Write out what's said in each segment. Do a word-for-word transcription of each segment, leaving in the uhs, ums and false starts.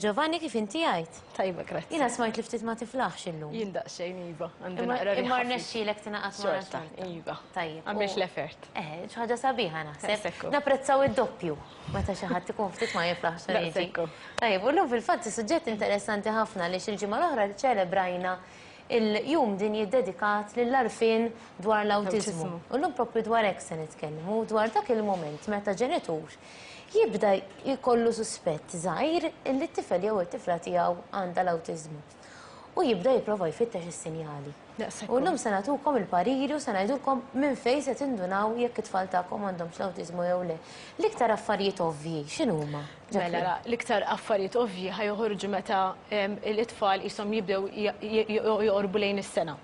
Giovanni, kif inti għajt? Tajba, grazzi. Jiena smajt li ftit ma tiflaħx illum. Jien daqsxejn iva, għandi naqra Imma rnexxielek tingħaqad ma' Xorta, iva. Tajjeb. Għamilt u- l-effort. Eh, xi ħaġa sabiħa naħseb. Daqshekk hu. Napprezzaw id-doppju meta xi ħadd ikun ftit ma jiflaħx jiġi. Daqshekk hu. Tajjeb, u llum fil-fatt suġġett interessanti ħafna li xil-ġimgħa l-oħra ċelebrajna il-jum dinji dedikat lill-għarfien dwar l-awtiżmu. L-awtiżmu. U llum propju dwar hekk se nitkellmu, dwar dak il-moment meta ġenitur jibda jkollu suspett żgħir li t-tifel jew it-tifla tiegħu għandha l-awtiżmu. U jibda jipprova jfittex is-sinjali. Daqshekk U hu. llum se nagħtukom il-pariri u se ngħidulkom minn fejn se tindunaw jekk it-tfal tagħkom għandhomx l-awtiżmu jew le. L-iktar affarijiet ovvji x'inhuma? Mela, ra, l-iktar affarijiet ovvji ħa joħorġu meta em, l-itfal jisom jibdew j- j- joqorbu lejn is-sena.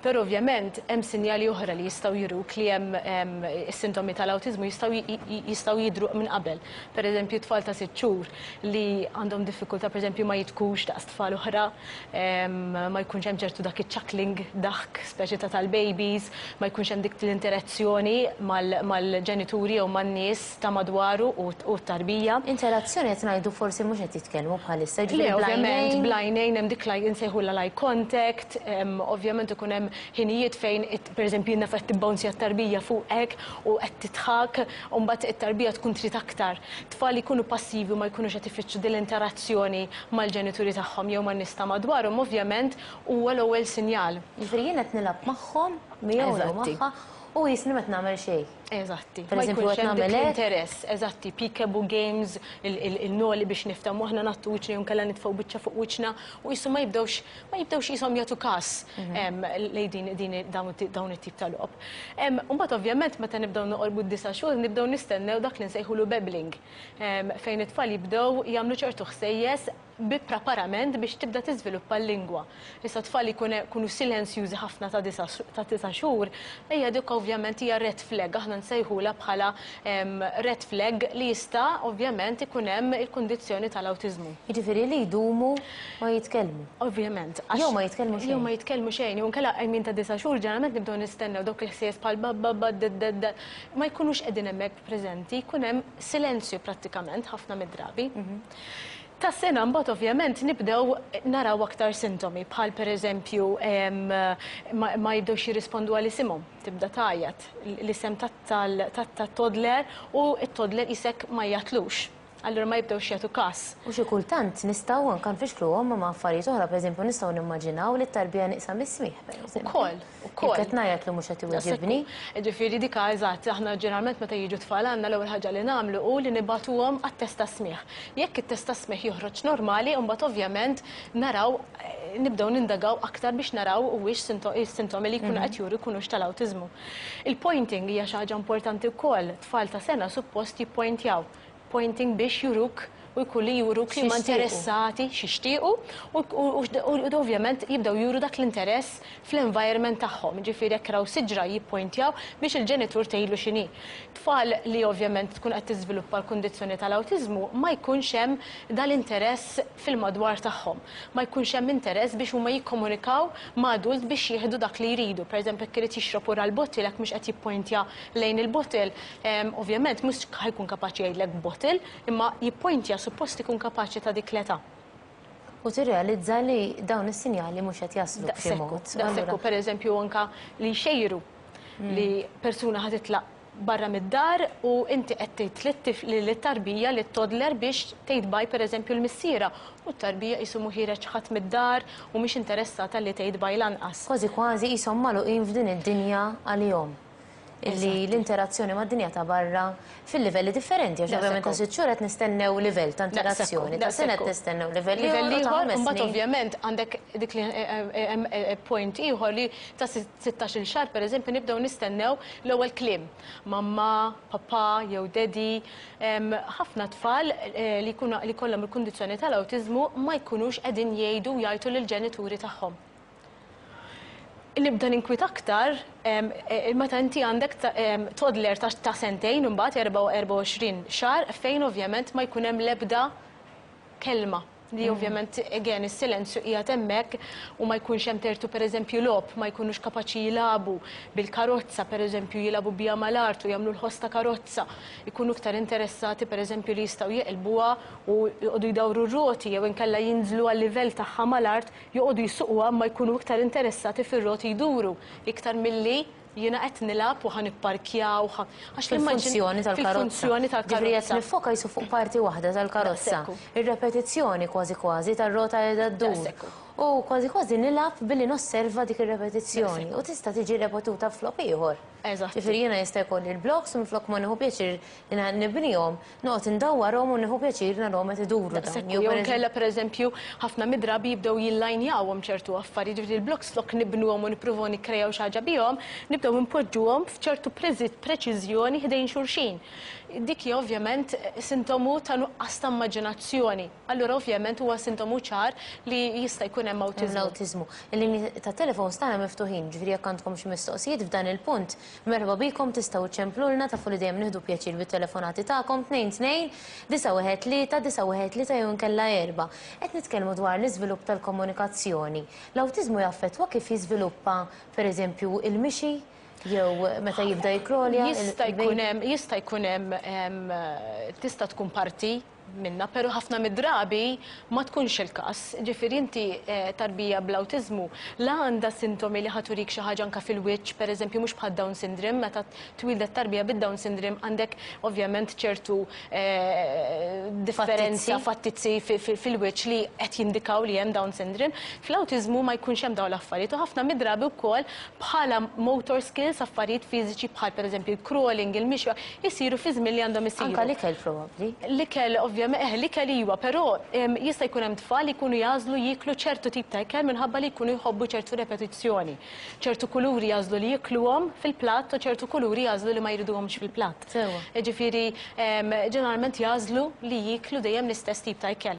Però ovvjament hemm sinjali oħra li jistgħu juruk li hemm em, is-sintomi tal-awtiżmu jistgħu j- j- jistgħu jidru minn qabel. Per eżempju, tfal ta' sitt xhur li għandhom diffikultà, pereżempju, ma jitkux daqs tfal oħra, em, ma jkunx hemm ċertu dak iċ-chuckling, daħk speċi ta' tal-babies, ma jkunx hemm dik l-interazzjoni mal- mal-ġenituri jew man-nies ta' madwaru u u t-tarbija. Interazzjoni qed ngħidu forsi mhux qed jitkellmu bħalissa, Le, ġifieri ovvjament, bl-għajnejn. bl-għajnejn hemm dik li nsejħu l eye contact, em, ovvjament ikun hemm ħinijiet fejn it- pereżempju jiena qed tibbouncja t-tarbija fuqek u qed tidħak, u mbagħad it-tarbija tkun trid aktar. Tfal jkunu passivi u ma jkunux qed ifittxu din l-interazzjoni mal-ġenituri tagħhom jew man-nies ta' madwarhom, ovvjament huwa l-ewwel sinjal. Ġifieri jien qed nilgħab magħhom, miegħu jew Eżatti. magħha, u jisni qed nagħmel xejn. Eżatti. Per Ma eżempju, jkunx qed hemm dik nagħmel hekk. l-interess, eżatti, peekaboo games, il- il- il-noli biex niftehmu aħna ngħattu wiċċna jew nkella nitfgħu biċċa fuq wiċċna u jisu ma jibdewx ma jibdewx jisom jagħtu kas em, lejn din din dawn it- dawn it-tip ta' logħob. Em, Mbagħad ovvjament meta nibdew noqorbu d-disa' xhur nibdew nistennew dak li nsejħulu babbling, em, fejn it-tfal jibdew jagħmlu ċertu ħsejjes bi preparament biex tibda tiżviluppa l-lingwa. Issa tfal jkunu silenzjużi ħafna ta' disa' ta' tisa' xhur, hija dik ovvjament hija red flag, aħna nsejħula bħala em, red flag li jista' ovvjament ikun hemm il-kundizzjoni tal-awtiżmu. Jiġifieri li jdumu ma jitkellmu. Ovvjament. għax- Jew ma jitkellmu xejn. Jew ma jitkellmu xejn. Jew nkella għajmin ta' disa' xhur ġeneralment nibdew nistennew dawk il-ħsejjes bħal ba ba ba d d d ma jkunux qegħdin hemmhekk preżenti, jkun hemm silenzju prattikament ħafna mid-drabi. Ta' sena mbagħad ovvjament nibdew naraw aktar sintomi bħal pereżempju em, ma, ma jibdewx jirrispondu għal isimhom, tibda tgħajjat l-isem tat-toddler u t-toddler isek ma jgħatlux. Allura ma jibdewx jagħtu kas. U xi kultant nistgħu anke nfixkluhom ma' affarijiet oħra, pereżempju nistgħu nimmaġinaw li t-tarbija nieqsa mis-smigħ, pereżempju. Ukoll, ukoll. Jekk qed ngħajjat li mhux qed iweġibni. Ġifieri dik eżatt, aħna ġeneralment meta jiġu tfal għandna, l-ewwel ħaġa li nagħmlu hu li nibagħtuhom għat-test ta' smigħ. Jekk it-test ta' smigħ joħroġ normali, mbagħad ovvjament naraw eh, nibdew nindagaw aktar biex naraw huwiex is-sintomi li jkunu qed juru jkunux tal-awtiżmu. Il-pointing hija xi ħaġa importanti wkoll. Tfal ta' sena suppost jippointjaw. Pointing biex juruk u jkun li juruk li ma X'jixtiequ. interessati, x'jixtiequ u, u, u, u ovvjament jibdew juru dak l-interess fl-environment tagħhom. Ġifieri jekk raw siġra jippointjaw biex il-ġenitur tgħidlu x'inhi. Tfal li ovvjament tkun qed tiżviluppa l-kundizzjoni tal-awtiżmu ma jkunx hemm dal-interess fil-madwar tagħhom. Ma jkunx hemm interess biex huma jikkomunikaw ma' adult biex jieħdu dak li jridu. Per eżempju, jekk irid jixrob ura l-bottle, jekk mhux qed jippointja lejn il-bottle, em, ovvjament mhux ħa jkun kapaċi jgħidlek bottle, imma jippointja suppost ikun kapaċi ta' dik l-età. U tirrealizza li dawn is-sinjali mhux qed jaslu b'xi Daqshekk, mod. daqshekk, Allura, per eżempju anka li xejru li persuna ħa titlaq barra mid-dar u inti qed tgħid lit-tarbija, lit-toddler, biex tgħid bye pereżempju l-missiera u t-tarbija qisu mhu ħiereġ ħadd mid-dar u mhix interessata li tgħid bye lanqas. Kważi kważi qishom magħluqin f'din id-dinja għalihom. Illi l-interazzjoni mad-dinja ta' barra fil-livelli differenti, għax ovvjament ta' sitt xhur qed nistennew livell ta' interazzjoni, ta' sena qed nistennew livell Livell ieħor, u ta' ieħor, ħames mbagħad snin. Ovvjament għandek dik li eh, eh, eh, point ieħor li ta' sittax-il xahar, pereżempju, nibdew nistennew l-ewwel kliem. Mamma, papà jew daddy. Em, Ħafna tfal eh, li jkunu li kollhom il-kundizzjoni tal-awtiżmu ma jkunux qegħdin jgħidu jgħidu lill-ġenituri tagħhom. Nibda ninkwit aktar em, eh, meta inti għandek ta- em, toddler ta' ta' sentejn imbagħad erbgħa u erbgħa u għoxrin xahar fejn ovvjament ma jkun hemm l-ebda kelma. Li ovvjament, again, is-silenzju qiegħed hemmhekk u ma jkunx hemm tertu, pereżempju, logħob, ma jkunux kapaċi jilagħbu bil-karozza, pereżempju, jilagħbu biha mal-art u jagħmlu l-ħoss ta' karozza. Ikunu iktar interessati, pereżempju, li jistgħu jeqilbuha u joqogħdu jdawru r-roti jew inkella jinżlu għal-livell tagħha mal-art, joqogħdu jsuquha, ma jkunu iktar interessati fir-roti jduru iktar milli jiena qed nilgħab u ħa nipparkjaw għax Fil-funzjoni tal-karozza. Fil-funzjoni Ġifieri qed tal-karozza. niffoka jisu fuq parti waħda tal-karozza. Daqshekk hu. Ir-repetizzjoni kważi kważi tar-rota qiegħda ddur. Daqshekk hu. U kważi kważi nilgħab billi nosserva dik ir-repetizzjoni. U tista' tiġi repetuta f'logħob ieħor. Eżatt. Ġifieri jiena jista' jkolli l-blocks u minflok ma nieħu pjaċir li nibnihom, noqgħod indawwarhom u nieħu pjaċir narahom qed iduru dawn. Daqshekk Jew jew per inkella, pereżempju, ħafna mid-drabi jibdew jillajnjawhom ċertu affarijiet, ġifieri l-blocks flok nibnuhom u nippruvaw nikkrejaw xi ħaġa bihom, nibdew npoġġuhom f'ċertu preżi- preċiżjoni ħdejn xulxin. Dik hija ovvjament sintomu ta' nuqqas ta' immaġinazzjoni. Allura ovvjament huwa sintomu ċar li jista' jkun hemm awtiżmu. L-awtiżmu. Il-linji ta' telefon tagħna miftuħin, ġifieri jekk għandkom xi mistoqsijiet f'dan il-punt, merħba bikom, tistgħu ċemplulna, tafu li dejjem nieħdu pjaċir bit-telefonati tagħkom, tnejn tnejn disa' wieħed tlieta disa' wieħed tlieta jew inkella erba'. Qed nitkellmu dwar l-iżvilupp tal-komunikazzjoni. L-awtiżmu jaffettwa kif jiżviluppa, pereżempju, il-mixi jew meta jibda jikrolja? Jista' il- jkun hemm jista' jkun hemm em, tista' tkun parti minna, pero ħafna mid-drabi ma tkunx il-każ. Ġifieri inti eh, tarbija bl-awtiżmu la għandha sintomi li ħa turik xi ħaġa anka fil-wiċċ, pereżempju, mhux bħal Down syndrome, meta twildet tarbija bid-Down syndrome għandek ovvjament ċertu eh, differenza, fattizzi fi- fi- fil-wiċċ li qed jindikaw li hemm Down syndrome. Fl-awtiżmu ma jkunx hemm dawn l-affarijiet u ħafna mid-drabi wkoll bħala motor skills, affarijiet fiżiċi bħal pereżempju il-crawling, il-mixja, jisiru fi żmien li għandhom isiru. Anka l-ikel probabbli. L-ikel, ovvjament, eh, l-ikel iwa, però em, jista' jkun hemm tfal li jkunu jagħżlu jiklu ċertu tip ta' ikel minħabba li jkunu jħobbu ċertu repetizzjoni. Ċertu kuluri jagħżlu li jikluhom fil-platt u ċertu kuluri jagħżlu li ma jriduhomx fil-platt. Sewa. Ġifieri, em, ġeneralment jagħżlu li jiklu dejjem l-istess tip ta' ikel.